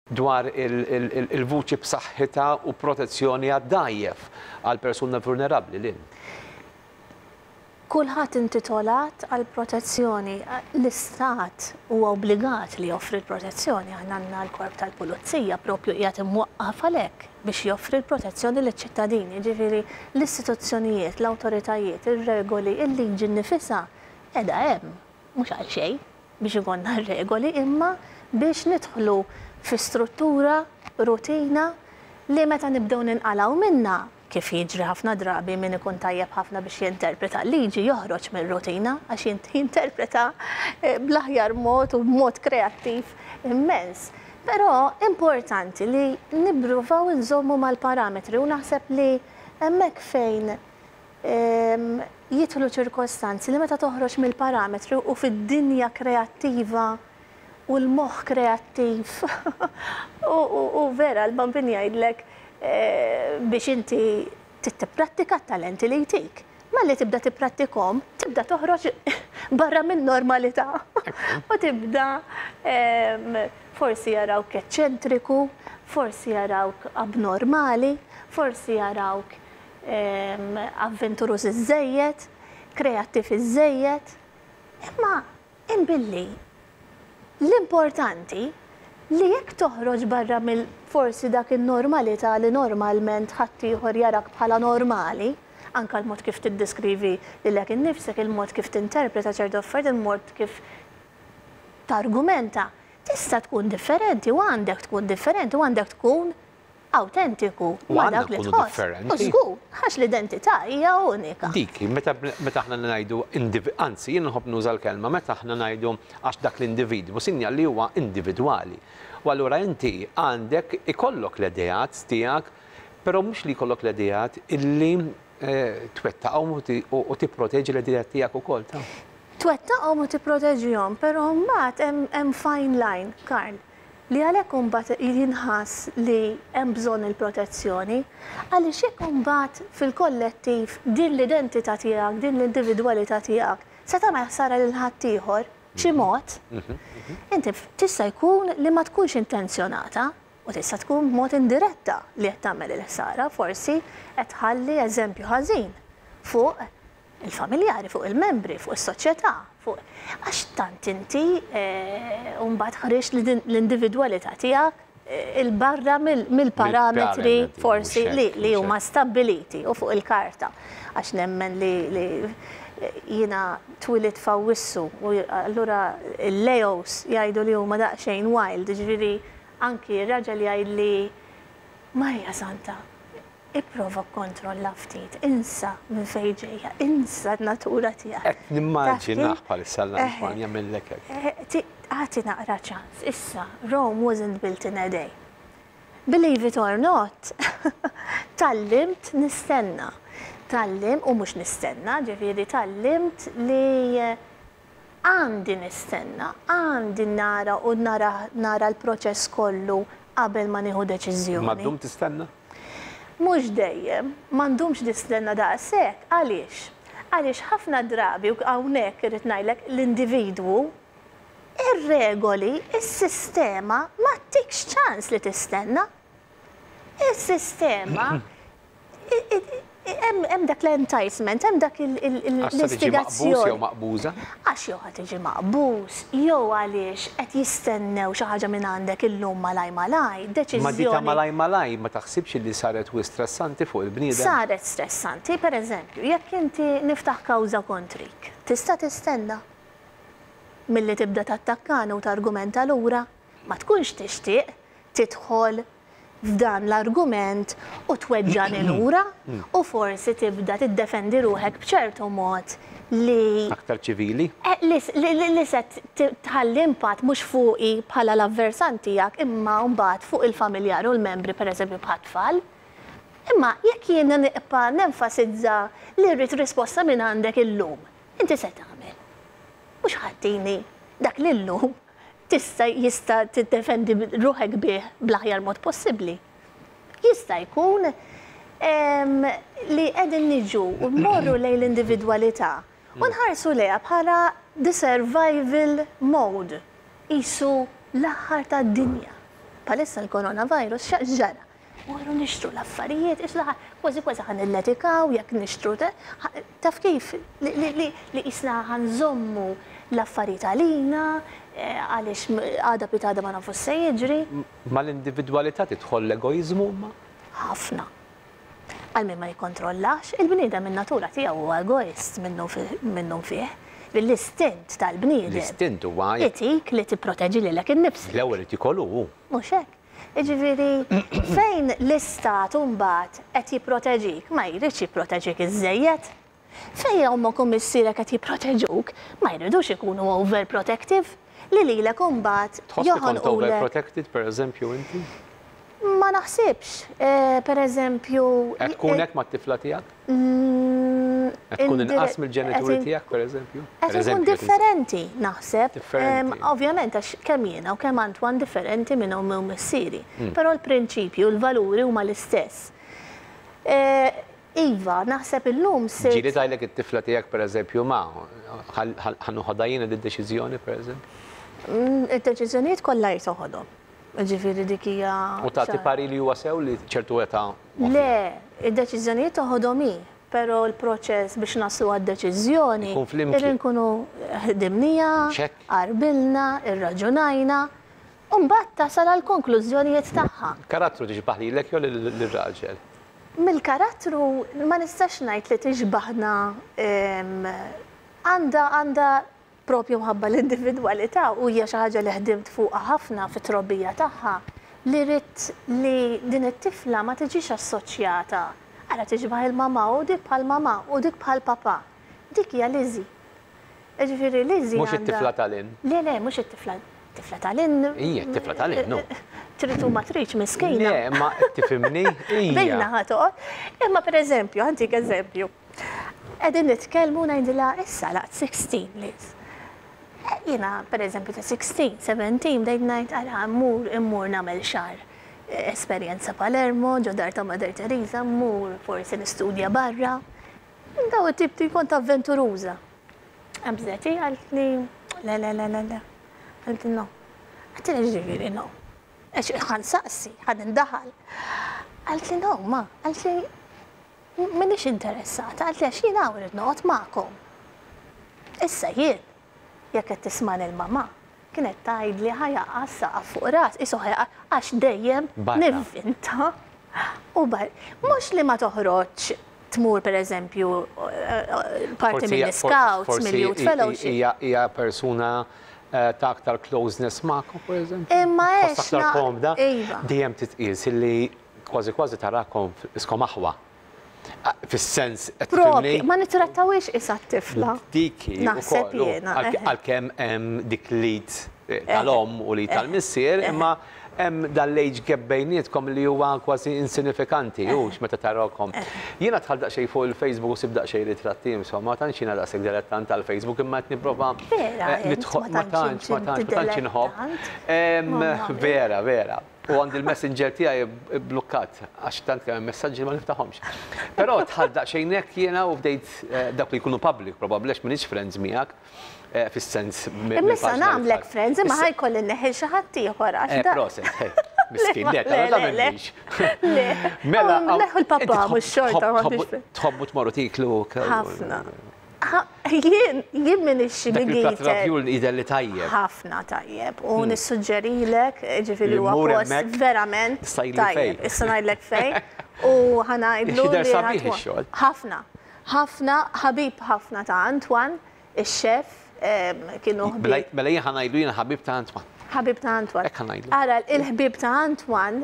Dwar il-vuċi b'saħħitha u protezzjoni għad-dgħajjef, għall-persuna vulnerabbli, Lynn. Kulħadd intitolat għall-protezzjoni. L-Istat huwa obbligat li joffri l-protezzjoni. Aħna għandna l-Korp tal-Pulizija propju qiegħed imwaqqaf għalhekk biex joffri l-protezzjoni liċ-ċittadini. Jiġifieri l-istituzzjonijiet, l-awtoritajiet, ir-regoli, il-liġi nnifisha qiegħda hemm mhux għal xejn biex ikollna r-regoli imma biex nidħlu fi struttura, rutina li meta nibdew ninqalgħu minnha Kif jiġri ħafna drabi min ikun tajjeb ħafna biex jinterpreta l-liġi joħroġ mir-rutina għax jinterpreta bl-aħjar mod u b'mod kreattiv immens. Però importanti li nippruvaw inżommu mal-parametri u naħseb li hemmhekk fejn jidħlu ċirkostanzi li meta toħroġ mill-parametri u fid-dinja kreattiva u l-moħħ kreattiv u vera l-Bambin jgħidlek biex inti trid tipprattika t-talenti li jtik. Malli tibda tipprattikhom, tibda toħroġ barra min-normalità u tibda forsi jarawk eċċentriku, forsi jarawk abnormali, forsi jarawk avventuruż iżżejjed, kreattiv iżżejjed. Imma Imbilli l-importanti li jekk toħroġ barra mill forsi dak in-normalità li normalment ħaddieħor jarak bħala normali, anke l-mod kif tiddiskrivi lilek innifsek, il-mod kif tinterpreta ċertu affarijiet, il-mod kif targumenta, tista' tkun differenti u għandek tkun differenti u għandek tkun awtentiku ma' dak li tħoss. U żgur, għax l-identità hija unika. Dik hi, meta meta aħna ngħidu indiv, anzi jien nħobb nuża l-kelma meta aħna ngħidu għax dak l-individwu, sinjal li huwa individwali. U allura inti għandek ikollok l-ideat tiegħek, però mhux li jkollok l-ideat illi twettaqhom u tipproteġi l-ideat tiegħek ukoll ta'. Twettaqhom u tipproteġihom, però mbagħad hemm fine line, Karl. Li għalhekk imbagħad jinħass li hemm bżonn il-protezzjoni, għaliex jekk imbagħad fil-kollettiv din l-identità tiegħek, din l-individwalità tiegħek se tagħmel ħsara lil ħaddieħor b'xi mod, inti tista' jkun li ma tkunx intenzjonata u tista' tkun b'mod indiretta li qed tagħmel il-ħsara, forsi qed tħalli eżempju ħażin fuq il-familjari, fuq il-membri, fuq is-soċjetà, fuq għax tant inti mbagħad ħriġt l-individwalità tiegħek 'il barra mill-parametri forsi li huma stabbiliti u fuq il-karta. Għax nemmen li jiena twilidt f'Awwissu u allura l-Leos jgħidu li huma daqsxejn wild, jiġifieri anki r-raġel jgħidli Marija Santa, Ipprova kkontrolla ftit, insa minn fejn ġejja, insa n-natura tiegħek. Qed nimmaġinah bħalissa l-Antoine jagħmillek hekk. Agħti naqra ċans. Issa, Rome wasn't built in a day. Believe it or not, tgħallimt nistenna. Tgħallim, u mhux nistenna, ġifieri tgħallimt li Għandi nistenna, għandi nara u nara nara l-proċess kollu qabel ma nieħu deċiżjoni. Imma ddum tistenna? Mhux dejjem, ma ndumx nistenna daqshekk. Għaliex? Għaliex ħafna drabi, u hawnhekk irrid ngħidlek, l-individwu, ir-regoli, is-sistema ma ttikx ċans li tistenna. Is-sistema Hemm dak l-enticement, hemm dak l-istigazzjoni. Għax jew maqbuża? Għax jew ħa tiġi maqbuż, jew għaliex qed jistennew xi ħaġa minn għandek illum malaj malaj, deċiżjoni. Ma di ta' malaj malaj ma taħsibx li saret wisq stressanti fuq il-bniedem? Saret stressanti, pereżempju, jekk inti niftaħ kawża kontrik, tista' tistenna milli tibda tattakkani u targumenta lura? Ma tkunx tixtieq tidħol f'dan l-argument u tweġġagħni lura u forsi tibda tiddefendi ruħek b'ċertu mod li. Aktar ċivili. Li se tħalli impatt mhux fuqi bħala l-avversant tiegħek imma mbagħad fuq il-familjari u l-membri pereżempju bħat-tfal. Imma jekk jiena nibqa' nenfasizza li rrid risposta minn għandek illum, inti se tagħmel? Mhux ħa ttini dak li llum tista' jista' tiddefendi ruħek bih bl-aħjar mod possibbli. Jista' jkun li qegħdin niġu u mmorru lejn l-individwalità u nħarsu lejha bħala the survival mode, qisu l-aħħar tad-dinja. Bħalissa l-coronavirus x'ġara? Morru nixtru l-affarijiet, issa kważi kważi ħa nilletikaw jekk nixtru, taf kif, li qisna ħa nżommu l-affarijiet għalina, għaliex għada pitgħada ma nafux se jiġri. Mal-individwalità tidħol l-egoiżmu imma? Ħafna. Għal min ma jikkontrollax, il-bniedem min-natura tiegħu huwa egoist minnu nfih. L-istint tal-bniedem. L-istint huwa. Itik li tipproteġi lilek innifsek. L-ewwel irid jiekol hu. Mhux hekk? Jiġifieri, fejn l-istat imbagħad qed jipproteġik, ma jridx jipproteġik iżżejjed. Fejn ommok u missierek qed jipproteġuk, ma jridux ikunu overprotective, li lilek imbagħad Tħoss li kont joħonqulek. overprotected, pereżempju, inti? Ma naħsibx. Pereżempju. Qed tkun hekk mat-tifla tiegħek? Qed tkun inqas mill-ġenituri tiegħek, pereżempju? Qed inkun differenti, naħseb. Differenti. Ovvjament għax kemm jiena u kemm Antoine differenti minn ommi u missieri. Però l-prinċipji u l-valuri huma l-istess. Iva, naħseb illum sirt. Ġieli tgħidlek it-tifla tiegħek pereżempju, ma, ħa noħodha jiena did-deċiżjoni, pereżempju? Id-deċiżjonijiet kollha hi toħodhom. Ġifieri dik hija. U tagħti parir li huwa sew li ċertu età. Le, id-deċiżjonijiet toħodhom hi, però l-proċess biex naslu għad-deċiżjoni irrid nkunu ħdimniha, qarbilna, irraġunajna, u mbagħad tasal għall-konklużjonijiet tagħha. Karattru tixbah lilek jew lir-raġel? Mill-karattru ma nistax ngħid li tixbahna għandha għandha Propju mħabba l-individwalità, u hija xi ħaġa li ħdimt fuqha ħafna fit-trobbija tagħha, li ridt li din it-tifla ma tiġix assoċjata, ara tixbah il-mamà u dik bħall-mamà u dik bħall-papà. Dik hija Lizzie. Jiġifieri Lizzie Mhux it-tifla ta' Lynn. Le, le, mhux it-tifla, it-tifla ta' Lynn. Hija t-tifla ta' Lynn, hu. Trid u ma tridx miskina. Le, imma tifhimni? Hija. Bejna ħa toqgħod. Imma pereżempju, ħa ntik eżempju. Qegħdin nitkellmu u ngħidilha issa laqt 16 Liz. Jiena pereżempju ta' 16, 17 bdejt ngħid ara mmur immur nagħmel xahar esperjenza Palermo, ġo dar ta' Mother Teresa, mmur forsi nistudja barra. Daw it-tip ti kont avventuruża. Qabżet hi qaltli le le le le le. Qaltli no. Għedtilha x'ġifieri no? Għax ħa nsaqsi, ħa nindaħal. Qaltli no ma, qaltli M'iniex interessata, qaltli għax jien hawn irrid noqgħod magħkom. Issa jien, jekk qed tismagħni l-mamà, kienet tgħidli ħa jaqa' s-saqaf fuq ras, qisu ħa jaqa' għax dejjem nivvinta u bar. Mhux li ma toħroġx tmur pereżempju parti mill-iscouts, mill-youth fellowship. Hija persuna ta' aktar closeness magħkom pereżempju? Imma għex. Aktar komda. Dejjem titqies illi Kważi kważi tarakom iskom aħwa. Fis-sens qed tifhimni? Ma nittrattawhiex qisha t-tifla. Dik hi Naħseb jiena. Għalkemm hemm dik l-id tal-omm u l-id tal-missier, imma hemm dan l-age gap bejnietkom li huwa kważi insinifikanti, hux meta tarakom. Jiena dħalt daqsxejn fuq il-Facebook u sibt daqsxejn ritratti, insomma, ma tantx jiena daqshekk dilettant tal-Facebook imma qed nipprova nidħol. Ma tantx, ma tantx, ma tantx inħobb. Vera, vera. U għandi l-messenger tiegħi blukkat għax tant kemm hemm messaġġi ma niftaħhomx. Però dħalt daqsxejn hekk jiena u bdejt eh, dawk li jkunu public probabbli għax m'iniex friends miegħek eh, fis-sens. Imma issa nagħmlek friends imma ħajkolli neħi xi ħadd ieħor għax. Eh, proset, miskin, le, ta' tagħmilx. Le. Mela, neħu l-papà mhux xorta Tħobbu tmorru tiklu. Ħafna. Jien, jien m'iniex xi Dak big il-platt eater. ravjul jidher li tajjeb. Ħafna tajjeb u nissuġġerilek, ġifieri Li huwa mmur post hemmhekk, verament issa jgħidli fejn. tajjeb. Issa ngħidlek fejn u ħa ngħidlu Jidher li sabiħ ħa ix-xogħol. Ħafna. Ħafna, ħabib ħafna ta' Antoine, ix-chef, kienu ħbieb. Mela jien ħa ngħidlu jiena ħabib ta' Antoine. Ħabib ta' Antoine. Hekk ħa ngħidlu. Ara, il-ħbieb ta' Antoine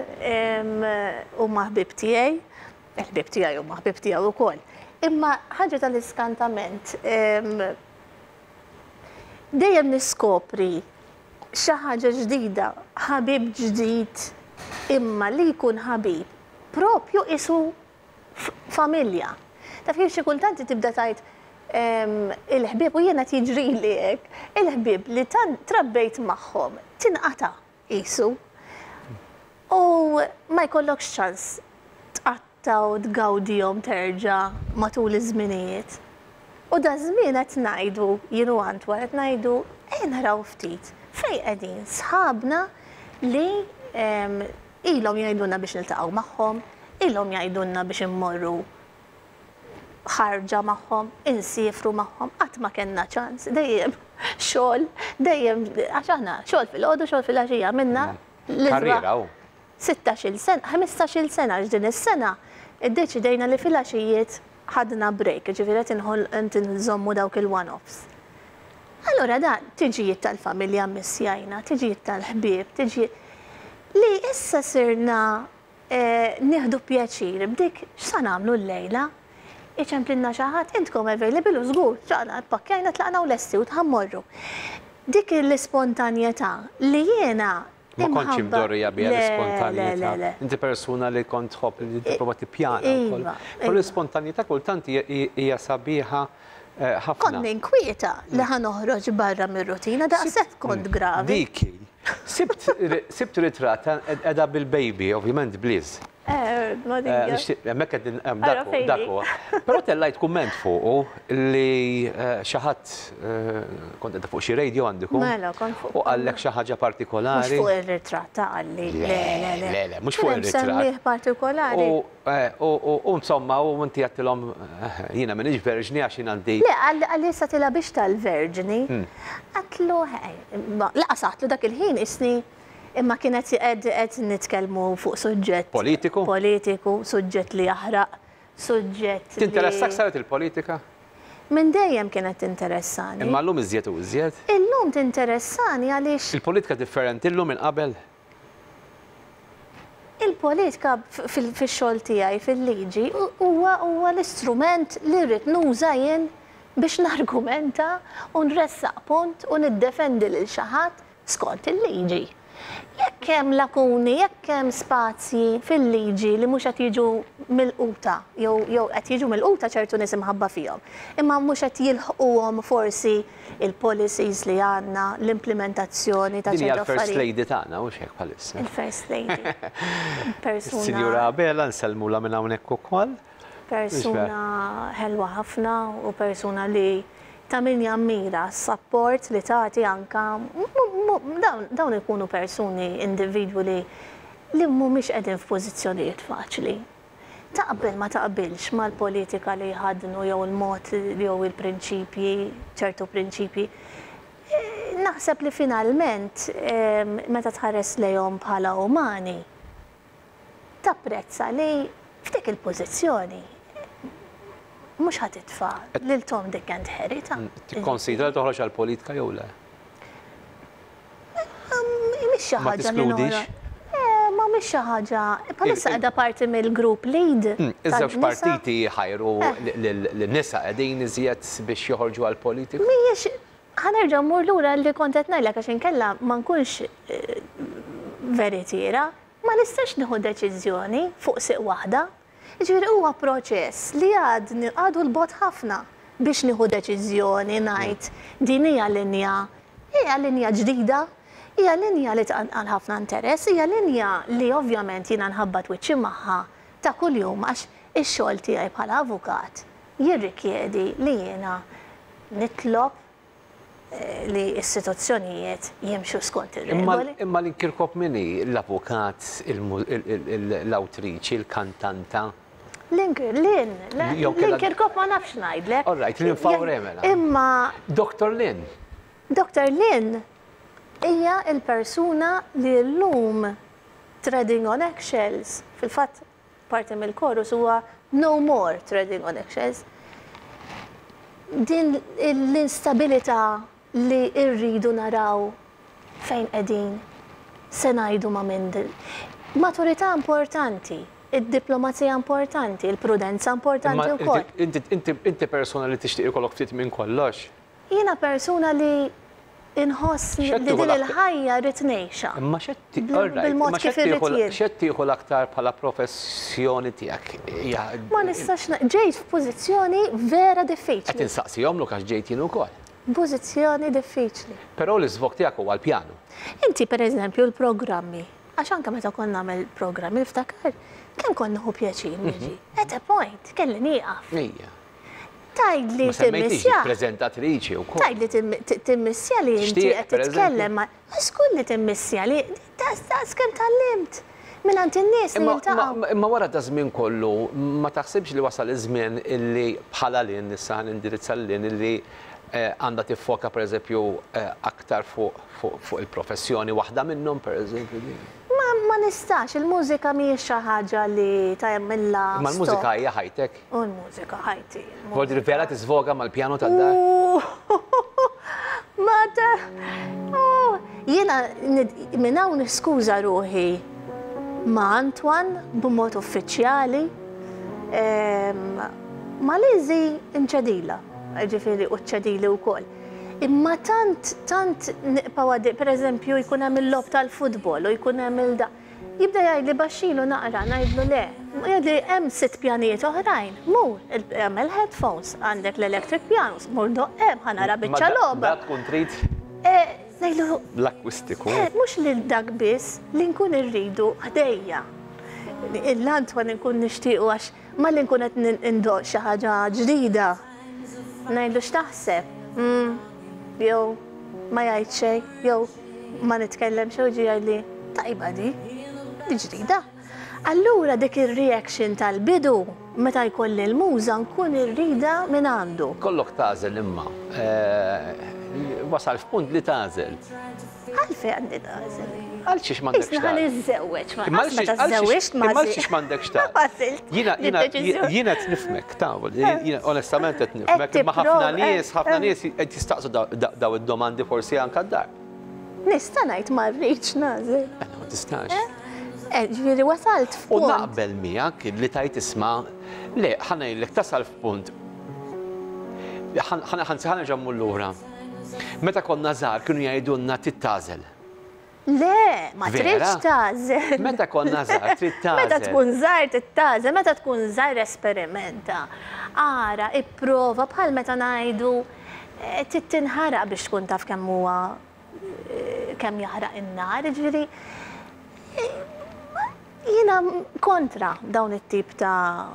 huma ħbieb tiegħi. Il-ħbieb tiegħi huma ħbieb tiegħu wkoll. Imma ħaġa tal-iskantament, dejjem niskopri xi ħaġa ġdida, ħabib ġdid, imma li jkun ħabib propju qisu familja. Taf kif xi kultant tibda tgħid il-ħbieb u jiena qed jiġrili hekk, il-ħbieb li tant trabbejt magħhom tinqata' qisu. U ma jkollokx ċans tqatta' u tgawdihom terġa' matul iż-żminijiet. U daż-żmien qed ngħidu, jien u Antoine qed ngħidu, ejja naraw ftit fejn qegħdin sħabna li Ilhom jgħidulna biex niltaqgħu magħhom, ilhom jgħidulna biex immorru ħarġa magħhom, insiefru magħhom, qatt ma kellna ċans, dejjem xogħol, dejjem għax aħna xogħol filgħodu, xogħol filgħaxija, għamilna Karriera hu. 16-il sena, 15-il sena għax din is-sena iddeċidejna li filgħaxijiet ħadna break, jiġifieri qed inħoll qed inżommu dawk il-one-offs. Allura dan tiġijiet tal-familja mmissjajna, tiġijiet tal-ħbieb, tiġijiet li issa sirna nieħdu pjaċir b'dik x'sa nagħmlu llejla? Iċemplilna xi ħadd, intkom available u żgur, tlaqna, ppakkjajna, tlaqna u lesti u ħa mmorru. Dik l-ispontanjetà li jiena Ma kontx imdorrija biha l-ispontanjetà. Inti persuna li kont tħobb li tipprova tippjana wkoll. Però l-ispontanjetà kultant hija sabiħa ħafna. Kont ninkwieta li ħa noħroġ barra mir-rutina daqshekk kont gravi. Dik hi. Sibt ritratt qiegħda bil-baby, ovvjament b'Liz. Hemmhekk qegħdin dak huwa. Però tellajt kumment fuqu li xi ħadd kont qiegħda fuq xi radio għandikom. Mela, kont fuq. U qallek xi ħaġa partikolari. Mhux fuq ir-ritratt ta' qalli. Le, le, le. Le, le, mhux fuq ir-ritratt. Semmieh partikolari. U insomma, u inti għedtilhom jiena m'iniex verġni għax jien għandi. Le, qalli issa tilgħabix tal-verġni. Għedtlu, lanqas għedtlu dak il-ħin isni Imma kienet qed qed nitkellmu fuq suġġett. Politiku? Politiku, suġġett li jaħraq, suġġett li. Tinteressak saret il-politika? Minn dejjem kienet tinteressani. Imma llum iżjed u iżjed? Illum tinteressani għaliex. Il-politika differenti llum minn qabel? Il-politika fix-xogħol tiegħi fil-liġi huwa huwa l-istrument li rrid nuża jien biex nargumenta u nressaq punt u niddefendi lil xi ħadd skont il-liġi. Jekk hemm lakuni, jekk hemm spazji fil-liġi li mhux qed jiġu milquta jew jew qed jiġu milquta ċertu nies imħabba fihom, imma mhux qed jilħquhom forsi il-policies li għandna, l-implimentazzjoni ta' Din hija ċertu l-First affarijiet. Lady tagħna, hux hekk bħalissa? Il-First Lady. Persuna. Is-Sinjura Abela nsellmulha minn hawnhekk ukoll. Persuna ħelwa ħafna u persuna li ta' min jammira s-sapport li tagħti anke dawn ikunu persuni, individwi li li mhumiex qegħdin f'pożizzjonijiet faċli. Taqbel ma taqbilx mal-politika li jħaddnu jew il-mod jew il-prinċipji, ċertu prinċipji, naħseb li finalment meta tħares lejhom bħala umani, tapprezza li f'dik il-pożizzjoni mhux ħa titfa' lil Tom, Dick and Harry ta'. Tikkonsidra li toħroġ għall-politika jew le? Mhix xi Ma ħaġa li teskludix? noħroġ. Ma mhix xi ħaġa. Bħalissa qiegħda parti mill-group lead. Iż-żewġ tan-nisa. partiti jħajru lin-nisa qegħdin iżjed biex joħorġu għall-politika. Mhijiex ħa nerġa' mmur lura li kont qed ngħidlek għax inkella ma nkunx veritiera. Ma nistax nieħu deċiżjoni fuq sieq waħda. Jiġifieri huwa proċess li għadni għadu 'l bogħod ħafna biex nieħu deċiżjoni ngħid din hija linja, hija linja ġdida, hija linja li tqanqal ħafna interess, hija linja li ovvjament jiena nħabbat wiċċi magħha ta' kuljum għax ix-xogħol tiegħi bħala avukat jirrikjedi li jiena nitlob li istituzzjonijiet jimxu skont ir-regoli. Imma Lynn Kirkop min hi? L-avukat, l-awtriċi, il-kantanta? Lynn, Lynn, Lynn Kirkop ma nafx ngħidlek. All right, Lynn Faure mela. Imma. Dr. Lynn. Dr. Lynn hija l-persuna li llum treading on eggshells, fil-fatt parti mill-chorus huwa no more treading on eggshells. Din l-instabilità li rridu naraw fejn qegħdin se ngħidu ma' min. Maturità importanti, id-diplomazija importanti, il-prudenza importanti wkoll. Inti persuna li tixtieq ikollok ftit minn kollox. Jiena persuna li inħoss li din il-ħajja rrid ngħixha. Imma Bil-mod kif irrid jien. X'qed tieħu l-aktar bħala professjoni tiegħek? Ma nistax ġejt f'pożizzjoni vera diffiċli. Qed insaqsihomlok għax ġejt jien ukoll. Pożizzjoni diffiċli. Però l-iżvog tiegħek huwa l-pjanu. Inti pereżempju l-programmi, għax anke meta kont nagħmel programmi niftakar kemm kont nieħu pjaċir niġi. At a point kelli nieqaf. Ejja. Tgħidli Ma semmejtix timmissja. preżentatriċi wkoll. Tgħidli timmissja li inti Tixtieq, qed per eżempju? titkellem ma' żgur li timmissja li daqs kemm tgħallimt mingħand in-nies li Imma, jiltaqgħu. ma, imma wara da żmien kollu, ma taħsibx li wasal iż-żmien illi bħala Lynn, issa ħa nindirizza lil illi għandha tiffoka per eżempju aktar fuq fuq fuq il-professjoni waħda minnhom per eżempju din? Ma, ma nistax, il-mużika mhijiex xi ħaġa li tagħmilha Imma l-mużika hija ħajtek. U l-mużika ħajti. Vuol dire vera tisvoga mal-pjano tad-dar? Ma ta' oh, jiena minn hawn niskuża ruħi ma' Antoine b'mod uffiċjali. Ma' Lizzie nċedila, ġifieri u ċedili wkoll. Imma tant, tant nibqgħu għaddej, per eżempju, jkun hemm il-logħob tal-futbol u jkun hemm il-da. Jibda jgħidli baxxilu naqra, ngħidlu le. Jgħidli hemm sitt pjanijiet oħrajn. Mur, hemm il-headphones, għandek l-electric pianos, mur doqq hemm ħa nara biċċa logħba. Da tkun trid Ngħidlu l-akwistiku. Mhux lil dak biss li nkun irridu ħdejja. L-Antoine nkun nixtiequ għax malli nkun qed indoq xi ħaġa ġdida. Ngħidlu x'taħseb? Jew ma jgħid xejn, jew ma nitkellem xejn u jiġi jgħidli tajba di, di ġdida. Allura dik ir-reaction tal-bidu meta jkolli l-muża nkun irrida minn għandu. Kollok tagħżel imma. Wasal f'punt li tagħżel. Għalfejn għandi nagħżel? Għal xiex m'għandekx Isna ħa niżżewweġ ma qatt meta żżewwiġt ma Imma għal xiex m'għandekx tagħżel? Għażilt. Jiena jiena jiena qed nifhmek ta' jiena onestament qed nifhmek imma ħafna nies ħafna nies qed jistaqsu daw id-domandi forsi anke d-dar. Nista' ngħid ma rridx nagħżel. Ma tistax. Ġifieri wasalt U f'punt. naqbel miegħek li tajt isma' le ħa ngħidlek tasal f'punt. Ħa nerġa' mmur lura. Meta konna żgħar kienu jgħidulna trid tagħżel. Le, ma Vera? tridx tagħżel. Meta konna żgħar trid tagħżel. Meta tkun żgħar trid tagħżel, meta tkun żgħar esperimenta. Ara, ipprova bħal meta ngħidu trid tinħaraq biex tkun taf kemm huwa kemm jaħraq in-nar, ġifieri jiena kontra dawn it-tip ta'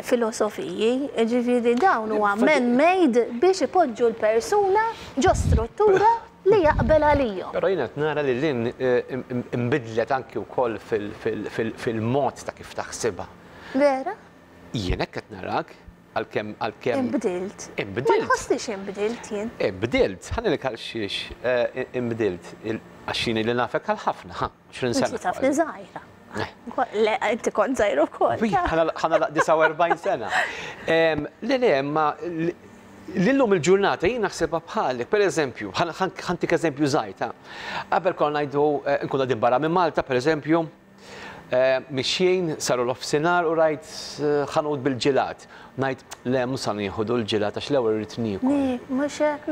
filosofiji, ġifieri dawn huwa man-made biex ipoġġu l-persuna ġo struttura li jaqbel għalihom. Però jiena qed nara li Lynn imbidlet anki wkoll fil-mod ta' kif taħsibha. Vera? Jien hekk qed narak għalkemm għalkemm Imbdilt. Ma Imbdilt. nħossnix imbdilt jien. Imbdilt, ħa ngħidlek għal xiex imbdilt għax jien li nafek għal ħafna, ha, 20 sena. Inti tafni żgħira. Le, inti kont żgħir ukoll. Ħa nagħlaq 49 sena. Le, le, ma l-lum il-ġurnata jien naħsebha bħalek, per eżempju, ħa ntik eżempju żgħir, Qabel konna ngħidu nkunu qegħdin barra minn Malta, per eżempju, mixjin saru l-offsinar u rajt ħanut bil-ġilat. Ngħid, le, mhux sa nieħu l-ġilat għax l-ewwel irrid niekol. Mhux hekk,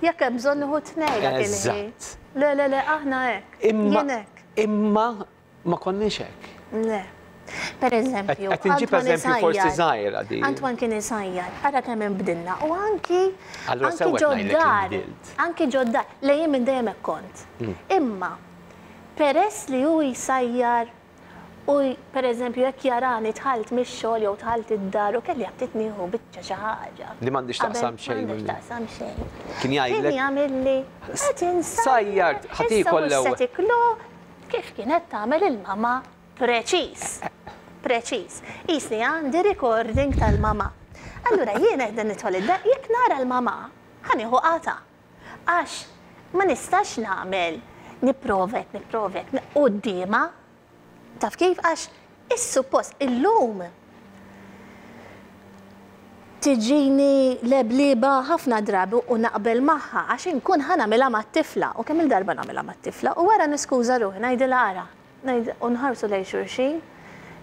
jekk hemm bżonn nieħu tnejn dak il-ħin. Eżatt. Le, le, le, aħna hekk. Imma Jien hekk. imma ma konniex hekk. Le. Per eżempju, Qed inġib Antoine eżempju forsi isajjar. żgħira di. Antoine kien isajjar, ara kemm inbdilna. U anki Allura anki sewwa qed ngħidlek li ġod-dar. nbdilt. Anki ġod-dar. Le jien minn dejjem hekk kont. Imma peress li hu jsajjar u per eżempju jekk jarani dħalt mix-xogħol jew dħalt id-dar u kelli aptit nieħu biċċa xi ħaġa. Li m'għandix taqsam xejn. M'għandix taqsam xejn. Kien jgħidlek Kien jagħmilli qed insajjar. Sajjar, ħa tiekol Issa mhux l-ewwel. se tiklu kif kienet tagħmel il-mama preċiż. Preċiż. Isni għandi recording tal-mama. Allura jiena qed nidħol id-dar, jekk nara l-mama, ħa nieħu qata. Għax ma nistax nagħmel nipprovek, nipprovek, quddiemha. Taf kif? Għax is-suppost illum tiġini lebliba ħafna drabi u naqbel magħha għax inkun ħa nagħmilha mat-tifla u kemm il-darba nagħmilha mat-tifla u wara niskuża ruħi ngħidilha ara u nħarsu lejn xulxin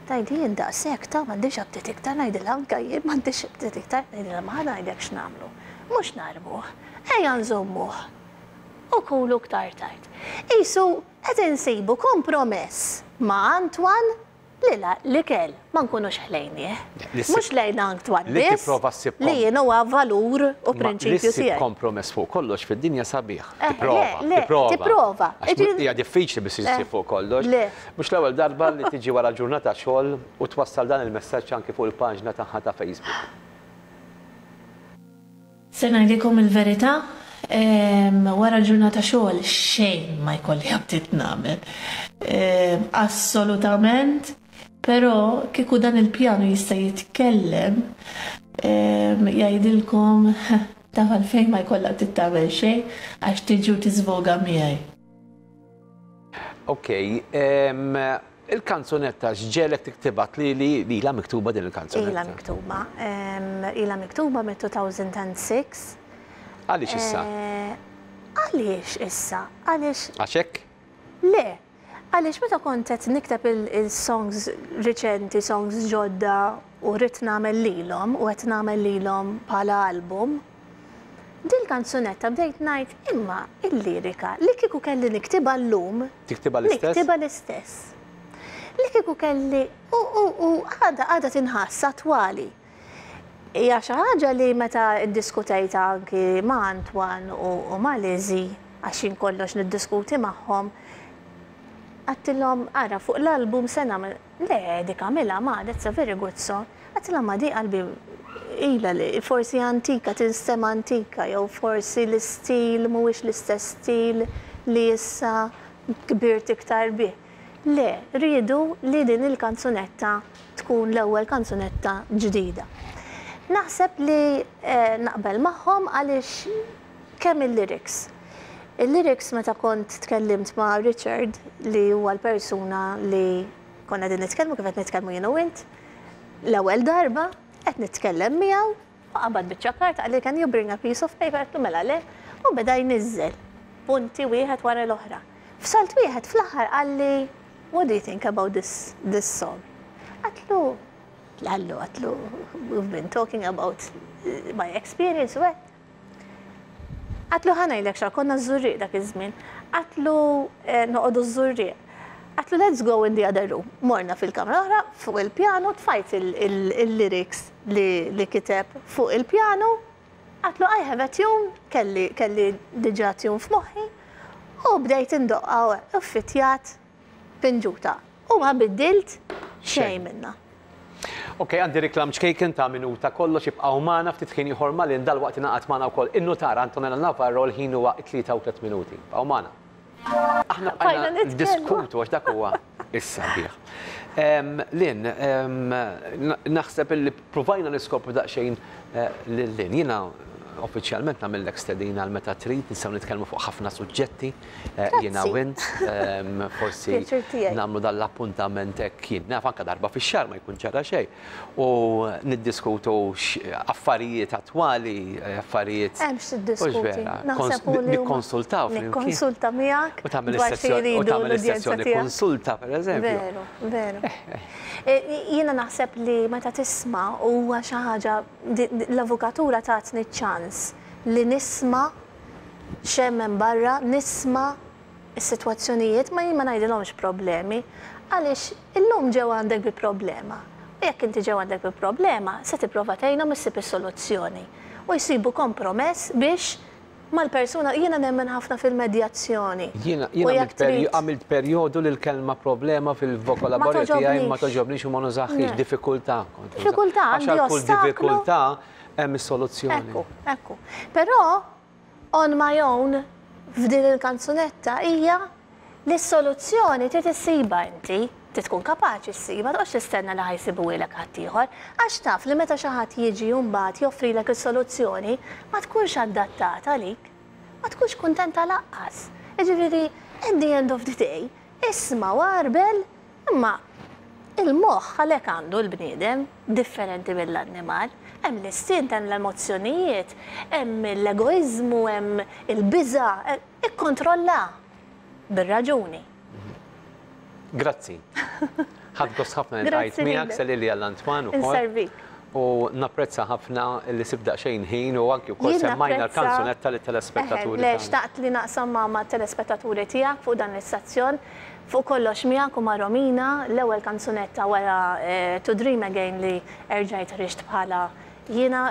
tgħidli jien daqshekk ta' m'għandix aptit iktar ngħidilha anke jien m'għandix aptit iktar ngħidilha ma ħa ngħidlek x'nagħmlu. Mhux narmuh, ejja nżommuh u kulu iktar tard. Isu qed insibu kompromess ma' Antoine li l-ikel ma nkunux ħlejnieh. Mhux lejn Antoine Li biss, tipprova ssib li jien huwa valur u Ma li prinċipju ssib tiegħi. kompromess fuq kollox fid-dinja sabiħ. Tipprova, le, le, tipprova. tipprova. Għax Iġi- Hija diffiċli biex issib fuq kollox. Le. Mhux l-ewwel darba li tiġi wara ġurnata xogħol u twassal dan il-messaġġ anki fuq il-paġna tagħha ta' Facebook. Se ngħidilkom il-verità, wara ġurnata xogħol xejn ma jkolli aptit nagħmel. Assolutament, però kieku dan il-pjanu jista' jitkellem, jgħidilkom taf għalfejn ma jkollha aptit tagħmel xejn għax tiġi u tiżvoga miegħi. Ok, il-kanzunetta x'ġegħlek tiktibha li li ilha miktuba din il-kanzunetta? Ilha miktuba. Ilha miktuba mit-2006. Għaliex issa? Għaliex issa? Għaliex. Għax hekk? Le. Għaliex meta kont qed nikteb il-songs riċenti, songs ġodda u rrid nagħmel lilhom u qed nagħmel lilhom bħala album, dil-kanzunetta bdejt ngħid imma il-lirika li kieku kelli niktibha llum. Tiktibha l-istess? Niktibha l-istess. Li kieku kelli u għadha għadha tinħass attwali. Hija xi ħaġa li meta ddiskutejtha anki ma' Antoine u ma' Lizzie, għax jien kollox niddiskuti magħhom, għedtilhom ara fuq l-album se nagħmel, le dik għamilha ma that's a very good song. Għedtilha ma di qalbi ilha li forsi antika, tinstema' antika jew forsi l-istil mhuwiex l-istess stil li issa kbirt iktar bih. Le, riedu li din il-kanzunetta tkun l-ewwel kanzunetta ġdida. Naħseb li naqbel magħhom għaliex kemm il-lyrics. Il-lyrics meta kont tkellimt ma' Richard li huwa l-persuna li konna qegħdin nitkellmu kif qed nitkellmu jien u int, l-ewwel darba qed nitkellem miegħu u qabad biċċa karta qalli can you bring a piece of paper għedtlu mela le u beda jniżżel punti wieħed wara l-oħra. F'salt wieħed fl-aħħar qalli what do you think about this, this song? Għedtlu, għallu, għedtlu, we've been talking about my experience u hekk. Għedtlu ħa ngħidlek xa, konna ż-Żurrieq dak iż-żmien. Għedtlu noqogħdu ż-Żurrieq. Għedtlu let's go in the other room. Morna fil-kamra oħra fuq il-pjanu, tfajt il-lyrics li kiteb fuq il-pjanu. Għedtlu I have a tune, kelli kelli diġà tune f'moħħi, u bdejt indoqqa u ffitjat pinġuta. U ma biddilt xejn minnha. Ok, għandi reklam ċkejken ta' minuta kollox ibqgħu magħna ftit ħin ieħor ma' Lynn dalwaqt ingħaqad magħna wkoll in-nutar Antonella Navarro l-ħin huwa 3:03 minuti. Ibqgħu magħna. Aħna bqajna niddiskutu għax dak huwa is-sabiħ. Lynn, naħseb illi provajna niskopru daqsxejn lil Lynn. Jiena uffiċjalment nagħmellek stedina għal meta trid, nistgħu nitkellmu fuq ħafna suġġetti jiena u int. Forsi nagħmlu dan l-appuntament hekk jien naf anke darba fix-xahar ma jkun ġara xejn. U niddiskutu affarijiet attwali, affarijiet. Hemm x'tiddiskuti. Nikkonsultaw. Nikkonsulta miegħek. U tagħmel is-sessjoni u tagħmel is-sessjoni konsulta pereżempju. Veru, veru. Jiena naħseb li meta tisma' huwa xi ħaġa l-avukatura tatni ċ-ċans li nisma' x'hemm hemm barra, nisma' is-sitwazzjonijiet, ma jien ma ngħidilhomx problemi, għaliex illum ġew għandek bi problema. U jekk inti ġew għandek bi problema, se tipprova tgħinhom issib is-soluzzjoni. U jsibu kompromess biex mal-persuna, jiena nemmen ħafna fil-medjazzjoni. Jiena għamilt perjodu li l-kelma problema fil-vokolaborju tiegħi ma togħġobnix u ma nużahiex, diffikultà. Diffikultà, għax għal kull diffikultà hemm is-soluzzjoni. Ekku, ekku. Però on my own f'din il-kanzunetta hija li s-soluzzjoni trid issiba inti, trid tkun kapaċi ssiba, toqgħodx tistenna li ħa jsibuhielek ħaddieħor, għax taf li meta xi ħadd jiġi u mbagħad joffrilek is-soluzzjoni ma tkunx adattata għalik, ma tkunx kuntenta lanqas. Jiġifieri at the end of the day, isma' u għarbel imma il-moħħ għalhekk għandu l-bniedem differenti mill-annimal. Hemm l-istint, hemm l-emozzjonijiet, hemm l-egoiżmu, hemm il-biża', ikkontrolla bir-raġuni. Grazzi. Ħadt gost ħafna li ltqajt miegħek, sellili għal Antoine ukoll. Inservik. U napprezza ħafna li sibt daqsxejn ħin u anki wkoll semmajna l-kanzunetta lit-telespettaturi. Le, xtaqt li naqsam ma' telespettaturi tiegħek fuq dan l-istazzjon. Fuq kollox miegħek u ma' Romina, l-ewwel kanzunetta wara To Dream Again li erġajt ħriġt bħala jiena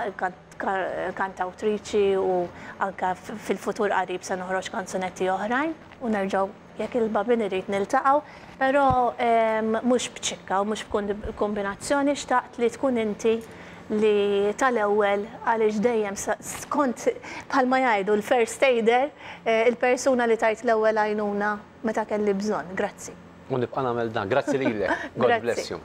kantawtriċi u anka fil-futur qarib se noħroġ kanzunetti oħrajn u nerġgħu jekk il-Bambin irid niltaqgħu, però mhux b'ċikka u mhux b'kombinazzjoni xtaqt li tkun inti li tal-ewwel għaliex dejjem skont bħalma jgħidu l-first aider, il-persuna li tajt l-ewwel għajnuna meta kelli bżonn. Grazzi. U nibqa' nagħmel dan. Grazzi lilek. God bless you.